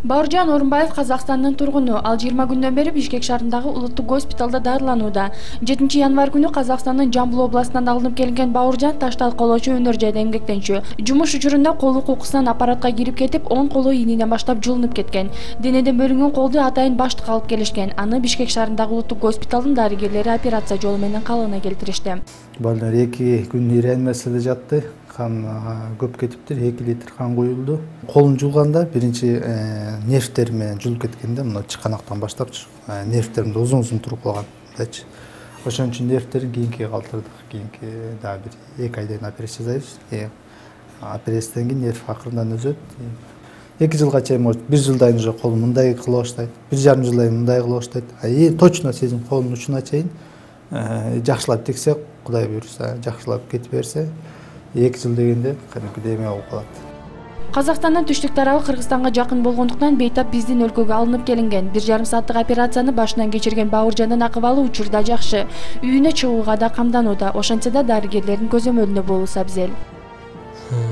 Бауыржан Орунбаев Казакстандын тургуну. Ал 20 күндөн бери Бишкек шаарындагы улуттук госпиталда дарыланууда. 7 январь күнү Казакстандын Жамбыл областынан алынып келген Бауыржан таш талкоолоочу өнөр жайда эмгектенчү. Жумуш учурунда колу кукусунан аппаратка кирип кетип, оң колу ийниден баштап жылынып кеткен. Денеден бөлүнгөн колду атайын баштыкка алып келишкен. Аны Бишкек шаарындагы улуттук госпиталдын дарыгерлери операция жолу менен калыбына келтиришти. Балдар 2 күн реанимацияда жатты. Қан көп кетиптир, 2 литр қан куюлду. Колун жулганда биринчи нервтериме жулуп кеткенде, мына чыканактан баштап нервтеримде узун туруп калгандачы. Ошон үчүн нервтерин кийинкиге калтырдык. Кийинки дагы бир 2 айдан операция жасайбыз. Операциядан кийин нерв акырындан өзөт. 2 жылга чейин, может, 1 жылдан уже колум мындай кыла баштайт. 1,5 жылдан мындай кыла баштайт. Точно сезим колдун учуна чейин жакшылап тексек, Кудай буйруса, жакшылап кетип берсе, 2 жыл дегенде кадимкидей эме болуп калат. Казакстандын түштүк тарабы Кыргызстанга жакын болгондуктан бейтап биздин өлкөгө алынып келинген. 1,5 сааттык операцияны башынан кечирген Бауыржандын акыбалы учурда жакшы. Үйүнө чыгууга да камданууда. Ошентсе да дарыгерлердин көзөмөлүндө болуусу абзел.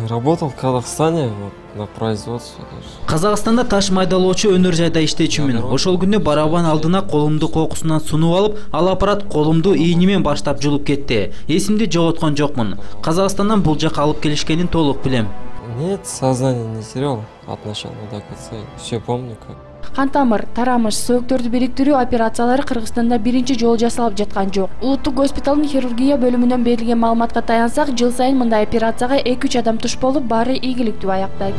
Работал в Казахстане на производстве. Казакстанда таш майдалоочу өнөр жайда иштечүмүн. Ошол күнү барабан алдына колумду кокусунан сунуп алып, ал аппарат колумду ийни менен баштап жулуп кетти. Эсимди жоготкон жокмун. Казакстандан бул жака алып келишкенин толук билем. Нет, сознание не терял от начала до конца. Все помню как. Кан тамыр, тарамыш, сөөктөрдү бириктирүү операциялары Кыргызстанда биринчи жолу жасалып жаткан жок. Улуттук госпиталдын хирургия бөлүмүнөн берилген маалыматка таянсак, жыл сайын мындай операцияга 2-3 адам туш болуп, баары ийгиликтүү аяктайт.